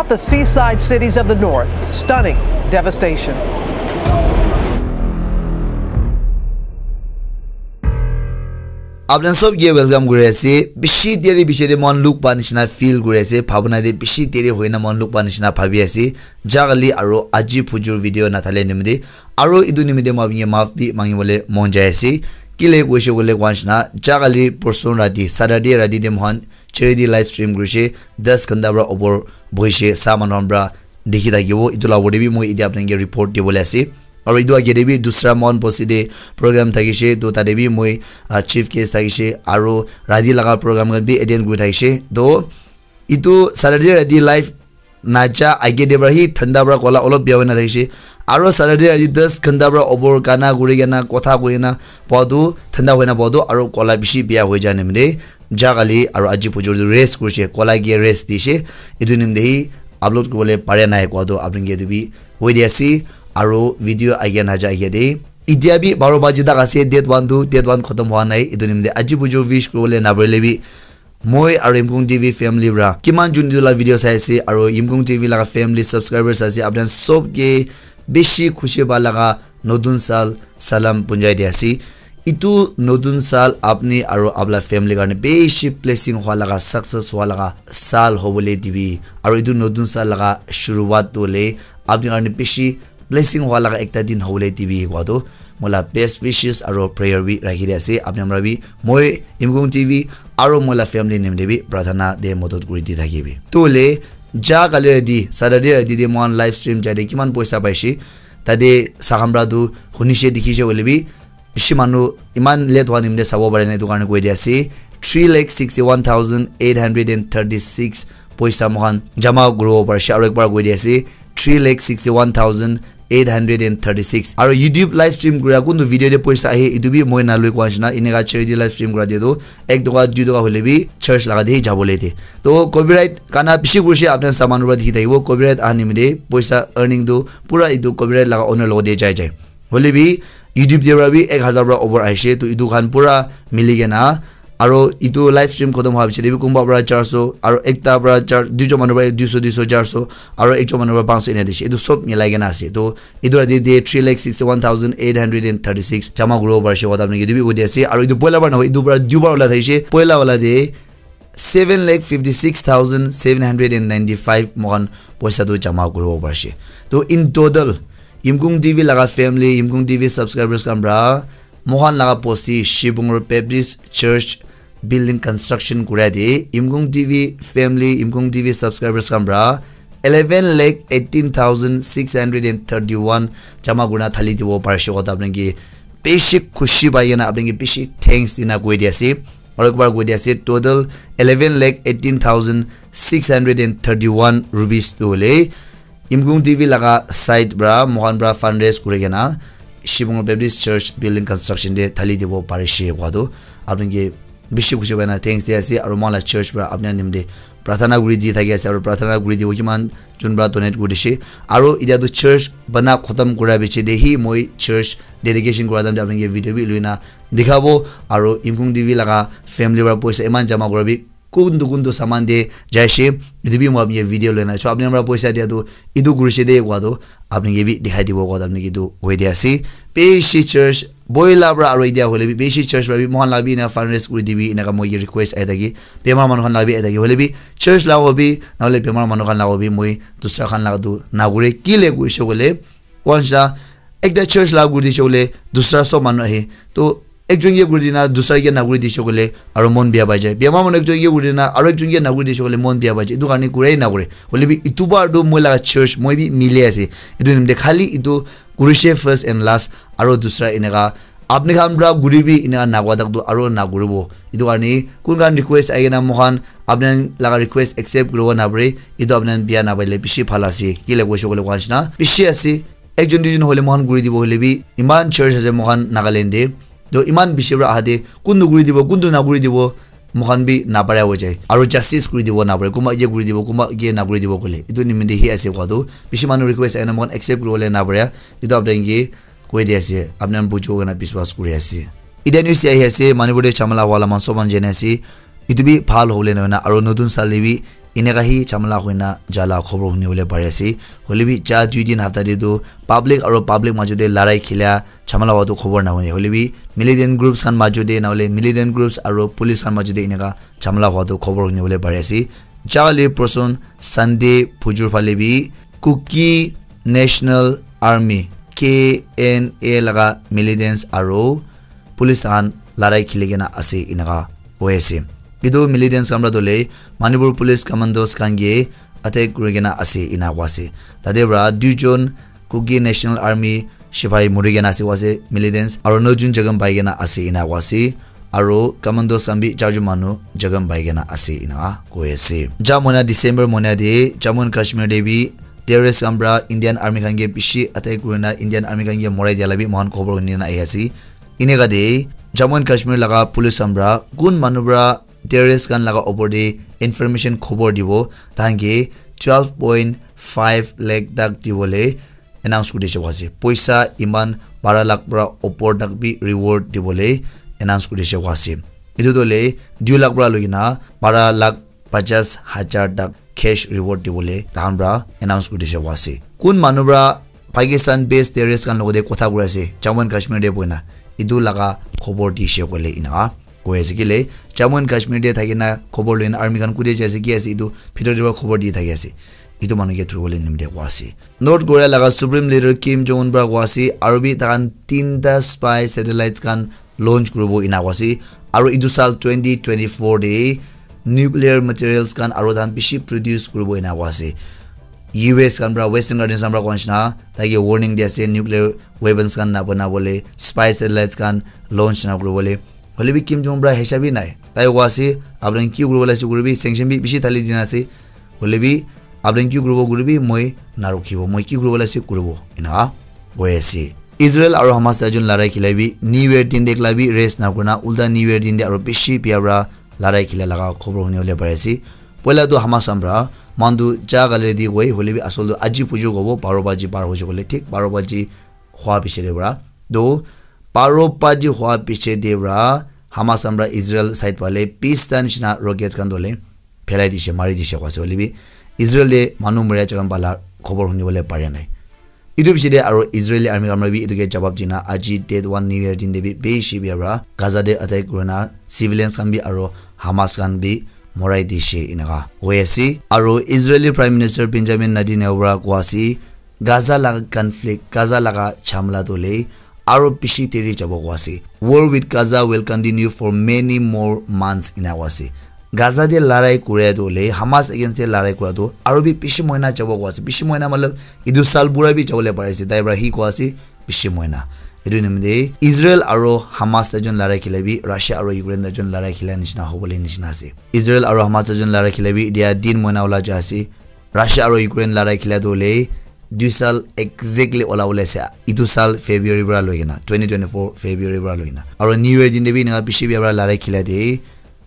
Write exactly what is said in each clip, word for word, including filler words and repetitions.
The seaside cities of the north, stunning devastation. Apnan sob ke welcome kuri ase. Bishi deri bishi de mon look pa nishina feel kuri ase. Bhabna de bishi deri hoina mon look pa nishina bhabi ase. Jagali aro aji phujur video nathale nimide. Aro idu nimide ma binge maaf bi mangi bole mon jai ase. Kile koishe kole kwan shina. Jagali porson rati, Saturday rati de mohan charity live stream kurishe. Das ghanta pra opor boishe. Sa manu pra dikhi thakibo. Itu la opor de bi moi ite apnanke report dibole ase. Aro itu age de bi dusra mon bosti de program thakishe. To tate bi moi, ah, chief guest thakishe. Aro rati laga program khan bi attend kuri thakishe. To itu Saturday rati live naja age de pra hi thanda pra kola olop bia hoina thakishe. Aro Saturday rati das ghanta pra opor gana kuri kena kotha kuri kena pua tu thanda hoina pua tu aro kola bishi bia hoi jai nimide. Jagali aro aji phujur tu rest kurishe, kola ke rest dishe. Itu nimide hi upload kuribole pare nai kua tu apnanke itu bi hoi di ase. Aro video age naja age de. Itia bi baro baji tak ase, date one tu, date one khotom hwa nai. Itu nimide aji phujur wish kuribole naparile bi moi aro Yimkung T V family pra kiman jun itu la video sai ase aro Yimkung T V laga family subscribers ase, apnan sob ke bishi khushi pa laga notun sal salam punjai di ase. Itu notun sal apni aro apla family karne bishi blessing hwa laga, success hwa laga sal hobole dibi. Aro itu notun sal laga shuruwat tu hole apni karne bishi blessing hwa laga ekta din hobole dibi kua tu moila best wishes aro prayer bi rakhi di ase. Apni amra bi moi Yimkung T V aro moila family nimide bi prathana de modot kuri di thakibi. Tu hole jagali rati, Saturday rati de mohan live stream jai de kiman poisa paishe. Tate sakhamra tu hunishe dikhishe hoile bi bishi manu iman late hwa nimide sabo pare na itu karne koi di ase. Three lakh sixty one thousand eight hundred and thirty six poisa mohan jama kuribo parishe. Aro ekbar koi di ase, three lakh sixty one thousand eight hundred and thirty six. Aro YouTube live stream kura kuntu video de poisa ahe, itu bi moi nalui kua nishina, ineka charity live stream kura de tu ek toka, dui toka hole bi church laga de jabole de. To copyright kana bishi kurishe, apna saman pra dikhi thakibo, copyright aha nimide poisa earning tu pura itu copyright laga owner logo de jai jai. Hole bi YouTube de pra bi ek hazar pra over ahishe, to itu khan pura mili kena. Aro itu live stream khotom hwa piche de bi kunba pra charso, aro ekta pra char, duijon manu pra duiso, duiso, charso, aro ekjon manu pra panchso ena dishe. Itu sob milai kena ase. To itu rati de three lakh sixty one thousand eight hundred and thirty six jama kuribo parishe kotha apni ke itu bi koi di ase. Aro itu poila bar nohoi, itu pra duibar ola thaishe. Poila wala de seven lakh fifty six thousand seven hundred and ninety five mohan poisa tu jama kuribo parishe. To in total Yimkung T V laga family, Yimkung T V subscribers khan pra mohan laga bosti Shibungur Baptist Church building construction kura de Yimkung T V family, Yimkung T V subscribers khan pra eleven lakh eighteen thousand six hundred and thirty one jama kurina thali dibo parishe kotha apni ke bishi khushi pai kena apni ke bishi thanks dina koi di ase. Aro ekbar koi di ase, total eleven lakh eighteen thousand six hundred and thirty one rupees tu hole Yimkung T V laga side pra mohan pra fundraise kuri kena Shibungur Baptist Church building construction de thali dibo parishe kua tu apni ke bishi khushi pai na thanks di ase. Aro mohan la church pra apni nimide prathana kuri di thaki ase, aro prathana kuri dibo kiman jun pra donate kuri dishe. Aro itya tu church bana khotom kura piche de hi moi church dedication kura time de apni ke video bi lui na dikhabo. Aro Yimkung T V laga family pra poisa iman jama kura bi kuntu kuntu saman de jaishe, itu bi moi apni ke video lui na. So apni amra poisa dia tu itu kurishe de kua tu apni ke bi dikhai dibo kua tu apni ke itu hoi di ase. Bishi church boila pra aro itya hole bi bishi church pra bi mohan la bi ena fundraise kuri dibi eneka moi ke request ahi thaki. Bemar manu khan la bi ahi thaki. Hole bi church la hobi nahole bemar manu khan la hobi moi dusra khan la tu nakure kile koishe kole kwansa ekta church la kuri dishe kole dusra sob manu ahe. To ekjon ke kuri dina dusra ke nakuri dishe kole aro mon bia pai jai. Bemar manu ekjon ke kuri dina aro ekjon ke nakuri dishe kole mon bia pai jai. Itu karne kurai nakure. Hole bi itu bar tu moi la church moi bi mili ase. Itu nimde khali itu kurishe first and last aro dusra eneka apni khan pra kuri bi eneka nakwa tak tu aro nakuribo. Itu karne kun khan request ahi kena mohan apni laga request accept kuribo napare. Itu apni khan bia napaile bishi bhal ase. Kile koishe kole kwan shina bishi ase. Ekjon duijon hole mohan kuri dibo hole bi iman church ase mohan Nagaland de. To iman bishi pra aha de kuntu kuri dibo, kuntu nakuri dibo mohan bi napara hoi jai. Aro justice kuri dibo napare. Kunba ye kuri dibo, kunba ye nakuri dibo kole. Itu nimide hi ase kua tu bishi manu request ahi kena mohan accept kuribole napare. Itu apni ke koi di ase, apni khan bujibo koina biswas kuri ase. Itya news ahi ase, Manipur te jhamala howa la man sob khan jani ase. Itu bi bhal hobole nohoi na, aro notun sal te bi Eneka hi jhamala hoina jala khobor huni bole pari ase. Hoile bi ja dui din hafta te tu public aro public majo te larai khilia jhamala hua tu khobor na huni. Hoile bi militant groups khan majo te na hole militant groups aro police khan majo te eneka jhamala hua tu khobor huni bole pari ase. Jali person Sunday phujur phale bi Kuki National Army, K N A laga militants aro police khan larai khili kena ase eneka hoi ase. Etu militants khan para tu le Manipur police commandos khan ke attack kuri kena ase ena koa ase. Tate para duijon Kuki National Army sipai muri kena ase koa ase militants, aro nokjon jakham pai kena ase ena koa ase, aro commandos khan bi charjon manu jakham pai kena ase ena koi ase. Ja moina December moina te Jammu and Kashmir te bi terrorist khan para Indian Army khan ke bishi attack kurina Indian Army khan ke morai dia la bi moikhan khobor huni na ahi ase. Eneka te Jammu and Kashmir laga police khan para kun manu para terrorist khan laga opor te information khobor dibo, tahan ke twelve point five lakh tak dibole announce kuri dishe koa ase. Poisa iman bara lakh para opor tak bi reward dibole announce kuri dishe koa ase. Etu tu le dui lakh para loi kena bara lakh pachash hajar tak cash reward dibole tahan para announce kuri dishe koa ase. Kun manu para Pakistan based terrorist khan logote kotha kuri ase Jammu and Kashmir te boina, etu laga khobor dishe koile eneka koi ase. Kile Jammu and Kashmir te thakina khobor loina army khan kute jai ase, ki ase, etu bhitor te para khobor di thaki ase. Etu manu ke thuribole nimite koa ase. North Korea laga Supreme Leader Kim Jong Un para koa ase, aro bi tahan tinta spy satellites khan launch kuribo ena koa ase. Aro etu sal twenty twenty-four te nuclear materials khan aro tahan bishi produce kuribo ena koa ase. U S khan para Western countries khan para koa nishina taike warning di ase, nuclear weapons khan na banabole, spy satellites khan launch na kuribole. Hoile bi Kim Jong Un para hisab bi nai. Tai koa ase, apni khan ki kuribo lase kuribi, sanction bi bishi thali dina ase. Hoile bi apni khan ki kuribo kuribi, moi na rukhibo. Moi ki kuribo lase kuribo. Eneka koi ase. Israel aro Hamas taijon larai khilai bi New Year din te ekla bi rest na kurina ulta New Year din te aro bishi bia para larai khila laga khobor huni bole pari ase. Poila tu Hamas khan para moikhan tu ja kale ready koi, hoile bi asol tu aji phujur kobo, baro baji par hoise koile thik baro baji hua piche te para. To baro baji hua piche te para Hamas khan para Israel side phale bista nishina rockets khan tu hoile phelai dishe, mari dishe koa ase. Hoile bi Israel te manu moria jaga pala khobor huni bole pare nai. Etu piche te aro Israeli army khan para bi etu ke jawab dina aji date one New Year din te bi bishi bia para Gaza te attack kurina civilians khan bi aro Hamas khan bi morai dishe eneka hoi ase. Aro Israeli Prime Minister Benjamin Netanyahu para koa ase, Gaza laga conflict, Gaza laga jhamla tu le aro bishi deri jabo koa ase. War with Gaza will continue for many more months ena koa ase. Gaza te larai kuria tu le Hamas against te larai kura tu aro bi bishi moina jabo koa ase. Bishi moina matlab etu sal pura bi jabo le pari ase. Tai para hi koa ase bishi moina. Etu nimite Israel aro Hamas taijon larai khilai bi Russia aro Ukraine taijon larai khila nishina hobole nishina ase. Israel aro Hamas taijon larai khilai bi etia din moina ola ja ase. Russia aro Ukraine larai khila tu hoile dui sal exactly ola bole ase. Etu sal February para loi kena, twenty twenty-four February para loi kena. Aro New Year din te bi eneka bishi bia para larai khila de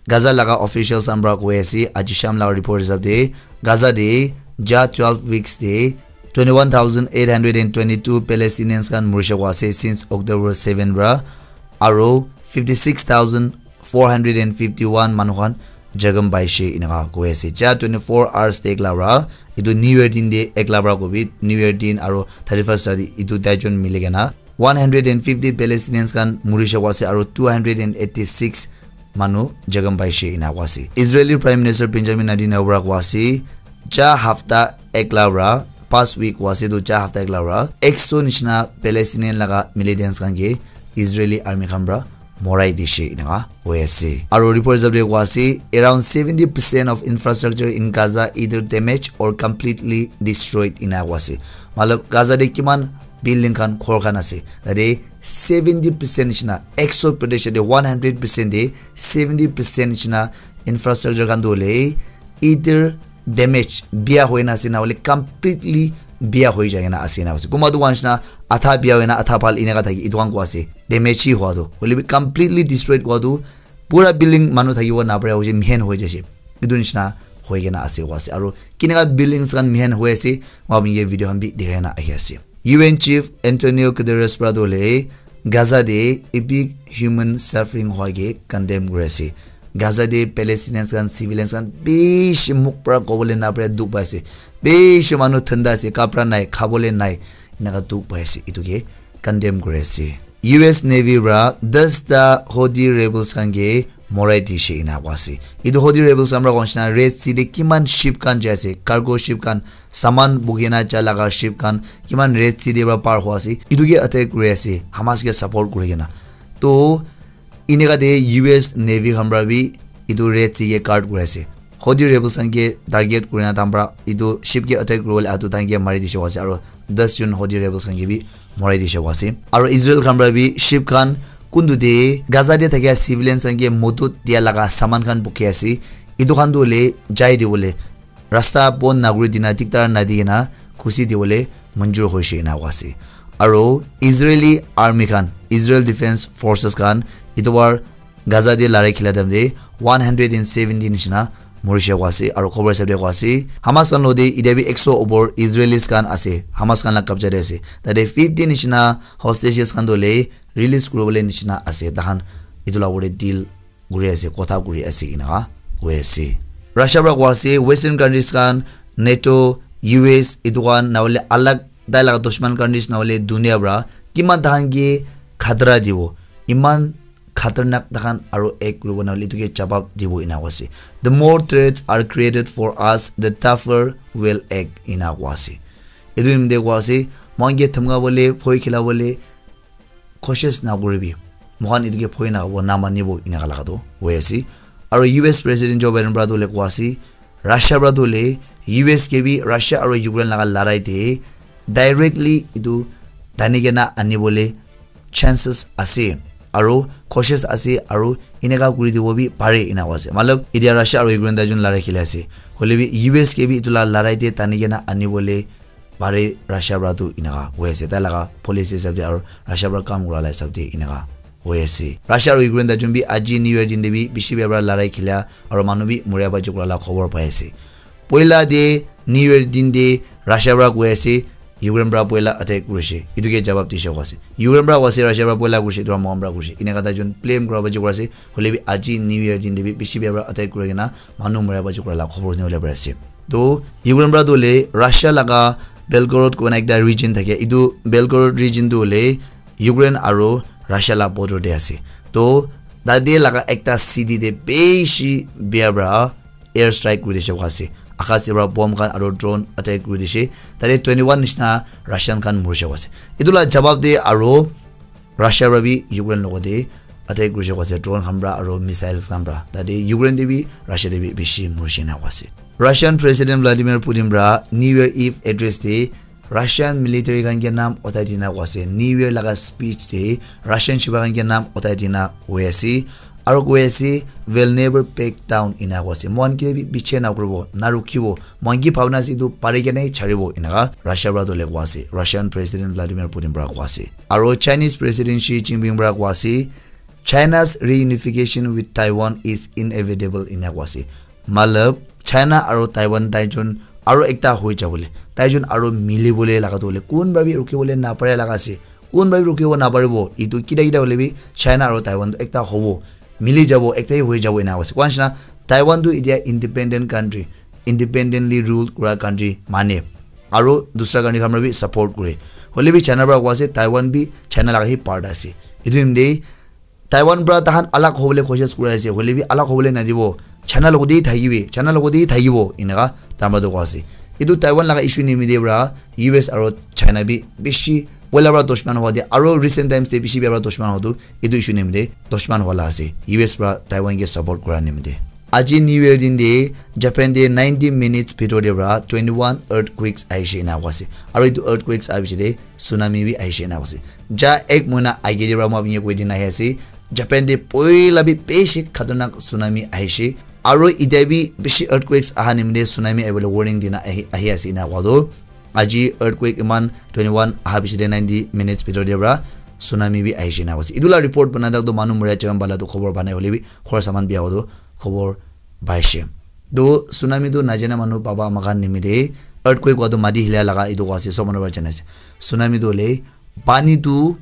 Gaza laga officials khan para koi ase, aji sham laga report hisab te Gaza te ja twelve weeks te twenty-one thousand eight hundred and twenty-two Palestinians khan murishe koa ase since October seven para, aro fifty-six thousand four hundred and fifty-one manu khan jakham paishe eneka koi ase. Ja twenty-four hours te ekla para, etu New Year din te ekla para kobi, New Year din aro thirty-first tarikh etu taijon mili kena one hundred and fifty Palestinians khan murishe koa ase aro two hundred and eighty-six manu jakham paishe ena koa ase. Israeli Prime Minister Benjamin Netanyahu para koa ase, ja hafta ekla para, past week koa ase tu ja hafta ekla para, ekso nishina Palestinian laga militants khan ke Israeli army khan para morai dishe eneka hoi ase. Aro report hisab te koa ase, around seventy percent of infrastructure in Gaza either damaged or completely destroyed ena koa ase. Matlab Gaza te kiman building khan, ghor khan ase, tate seventy percent nishina, ekso percent te, one hundred percent te seventy percent nishina infrastructure khan tu hoile either damage, bia hoina ase, na hoile completely bia hoi jai kena ase na ase. Kunba tu koa nishina adha bia hoina adha bhal eneka thaki, etu khan koa ase. Damage hi hua tu, hoile bi completely destroyed koa tu, pura building manu thakibo na pare, hoise mihen hoi jaise. Etu nishina hoi kena ase koa ase. Aro keneka buildings khan mihen hoi ase, moi apni ke video khan bi dikhai na ahi ase. U N chief Antonio Guterres para tu hoile Gaza te epic human suffering hua ke condemn kuri ase. Gaza te Palestinians khan, civilians khan bishi mukh para kobole na pare dukh pai ase. Bishi manu thanda ase, kapra nai, khabole nai, enaka dukh pai ase. Etu ke condemn kuri ase. U S Navy para das ta Houthi rebels khan ke morai dishe ena koa ase. Etu Houthi rebels khan para koa nishina Red Sea te kiman ship khan jai ase, cargo ship khan, saman bukhi na ja laga ship khan kiman Red Sea te para par hua ase. Etu ke attack kuri ase, Hamas ke support kuri kena. To eneka te U S Navy khan para bi etu Red Sea ke guard kuri ase. Houthi rebels khan ke target kuri na tahan para etu ship ke attack kuri bole atu tahan ke mari dishe koa ase, aro das jon Houthi rebels khan ke bi morai dishe koa ase. Aro Israel khan para bi ship khan kuntu te Gaza te thakia civilians khan ke modot dia laga saman khan bukhi ase. Etu khan tu hoile jai di bole rasta bon naguri dina diktar nadi kena khushi di bole manjur hoishe ena koa ase. Aro Israeli army khan, Israel Defense Forces khan etu bar Gaza te larai khila time te one hundred and seventy nishina morishe koa ase, aro khobor hisab te koa ase Hamas khan lo te etia bi ekso opor Israelis khan ase, Hamas khan la kabja te ase. Tate fifty nishina hostages khan tu hoile release kuri bole nishina ase, tahan etu la opor te deal kuri ase, kotha kuri ase eneka koi ase. Russia para koa ase Western countries khan, NATO, U S, etu khan na hoile alag tai laga dushman countries na hoile dunia para kiman tahan ke khatra dibo, iman khatarnak tahan aro act kuribo na hoile etu ke jawab dibo ena koa ase. The more threats are created for us, the tougher we'll act ena koa ase. Etu nimite koa ase moikhan ke dhamka bole, bhoi khila bole, koshish na kuribi, moikhan etu ke bhoi na hobo, na manibo, eneka laga tu hoi ase. Aro U S President Joe Biden para tu hoile koa ase, Russia para tu hoile U S ke bi Russia aro Ukraine laga larai te directly etu tani kena ani bole chances ase, aro koshish ase, aro eneka kuri dibo bi pare ena koa ase. Matlab etia Russia aro Ukraine tai jon larai khili ase, hoile bi U S ke bi etu la larai te tani kena ani bole pare Russia para tu eneka hoi ase, tai laga policy hisab te aro Russia para kam kura la hisab te eneka hoi ase. Russia aro Ukraine tai jon bi aji New Year din te bi bishi bia para larai khila aro manu bi moria baji kura la khobor pai ase. Poila te New Year din te Russia para koi ase Ukraine para poila attack kurishe, etu ke jawab dishe koa ase. Ukraine para koa ase Russia para poila kurishe, etu para moikhan para kurishe, eneka tai jon blame kura baji kura ase. Hoile bi aji New Year din te bi bishi bia para attack kuri kena manu moria baji kura la khobor ni hole pare ase. To Ukraine para tu hoile Russia laga Belgorod koina ekta region thake. Etu Belgorod region tu hoile Ukraine aro Russia la border te ase. To tate laga ekta city te bishi bia para air strike kuri dishe koa ase. Akash te para bomb khan aro drone attack kuri dishe. Tate twenty one nishina Russian khan morishe koa ase. Etu la jawab te aro Russia para bi Ukraine logot te attack kurishe koa ase, drone khan para aro missiles khan para. Tate Ukraine te bi Russia te bi bishi morishe na koa ase. Russian President Vladimir Putin para New Year Eve address te Russian military khan ke naam uthai dina koa ase. New Year laga speech te Russian shipa khan ke naam uthai dina koi ase. Aro koi ase, "We'll never back down," ena koa ase. Moikhan ke bi piche na kuribo, na rukibo. Moikhan ki bhabna ase etu pari kena hi charibo, eneka Russia para tu hoile koa ase. Russian President Vladimir Putin para koa ase. Aro Chinese President Xi Jinping para koa ase, "China's reunification with Taiwan is inevitable," ena koa ase. Matlab, China aro Taiwan tai jon aro ekta hoi jabole, tai jon aro mili bole laga tu hoile kun para bi ruki bole na pare laga ase. Kun para bi ruki bo na paribo. Etu kita kita hoile bi China aro Taiwan tu ekta hobo, mili jabo, ekta hi hoi jabo ena koa ase. Koa nishina Taiwan tu etia independent country, independently ruled kura country mane, aro dusra country khan para bi support kure. Hoile bi China para koa ase Taiwan bi China laga hi part ase. Etu nimite Taiwan para tahan alag hobole koshish kuri ase, hoile bi alag hobole nadibo. China logot te thakibi, China logot te thakibo, eneka tahan para tu koa ase. Etu Taiwan laga issue nimite para U S aro China bi bishi poila para dushman hua de, aro recent times te bishi bia para dushman hua tu etu issue nimite dushman hua la ase, U S para Taiwan ke support kura nimite. Aji New Year din te Japan te ninety minutes bhitor te para twenty one earthquakes ahishe ena koa ase. Aro etu earthquakes aha piche te tsunami bi ahishe ena koa ase. Ja ek mohina age te para moi apni ke koi dina ahi ase, Japan te poila bi bishi khatarnak tsunami ahishe. Aro etia bi bishi earthquakes aha nimite tsunami ahibole warning dina ahi, ahi ase ena koa tu. Aji earthquake iman twenty one aha piche te ninety minutes bhitor te para tsunami bi ahishe ena koa ase. Etu la report bana tak tu manu moria jaga bala tu khobor pa nai, hoile bi ghor saman bia hua tu khobor paishe. To tsunami tu najana manu baba ama khan nimite, earthquake hua tu mati hila laga etu koa ase, sob manu para jana ase. Tsunami tu hoile pani tu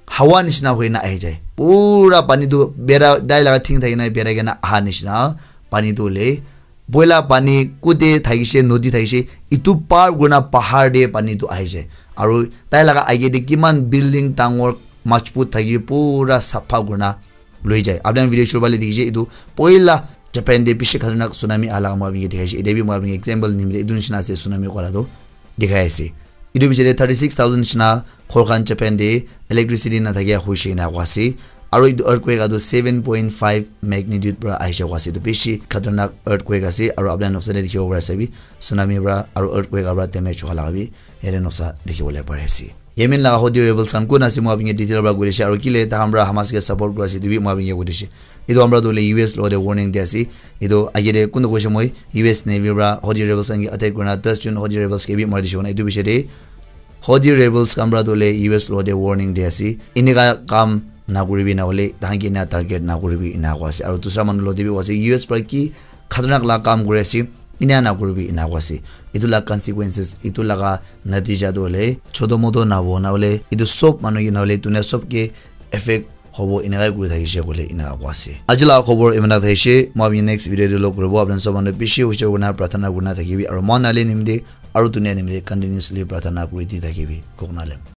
hawa nishina hoina ahi jai. pura pani tu bera tai laga thing thaki na berai kena aha nishina pani tu hoile boila pani kute thakishe, nodi thakishe, itu par kurina pahar te pani tu ahishe. Aru tai laga age te kiman building dangor majbut thaki pura sapha kurina loi jai. Apni khan video shuru phale dikhishe, itu poila Japan te bishi khatarnak tsunami aha laga moi apni ke dikhaishe. Ite bi moi apni ke example nimite itu nishina ase tsunami kola tu dikhai ase. Itu bichare thirty six thousand nishina ghor khan Japan te electricity nathakia hoishe ena koa ase. Aru itu earthquake atu seven point five magnitude pra ahishe koa ase. Itu bishi khatarnak earthquake ase. Aru apni khan noksa te dikhibo pari ase bi tsunami pra aru earthquake pra damage howa laga bi yate noksa dikhibole pari ase. Yemen laga Houthi rebels khan kun ase moi apni ke detail pra koi dishe aru kile takhan pra Hamas ke support kuri ase itu bi moi apni ke koi dishe. Itu khan pra tu hoile U S logote warning di ase. Itu age te kun koise moi U S Navy pra Houthi rebels khan ke attack kurina das jon Houthi rebels ke bi mari dishe koina itu bichare Houthi rebels khan pra tu hoile U S logote warning di ase. Enika kam nakuribi na hoile tahan ke ena target nakuribi ena koa ase. Aru dusra manu logote bi koa ase U S pra ki khatarnak la kam kuri ase. Ena nakuribi ena koa ase. Itu la consequences, itu laga natija tu hoile choto moto nabo na hoile itu sob manu ke na hoile dunia sob ke effect hobo enakai kuri thakishe koile enaka koa ase. Aji laga khobor imana thakishe, moi apni next video te log kuribo. Apni sob manu bishi hushar kurina pratana kurina thakibi aru moi nale nimite aru dunia nimite continuously pratana kuri di thakibi. Koknalem.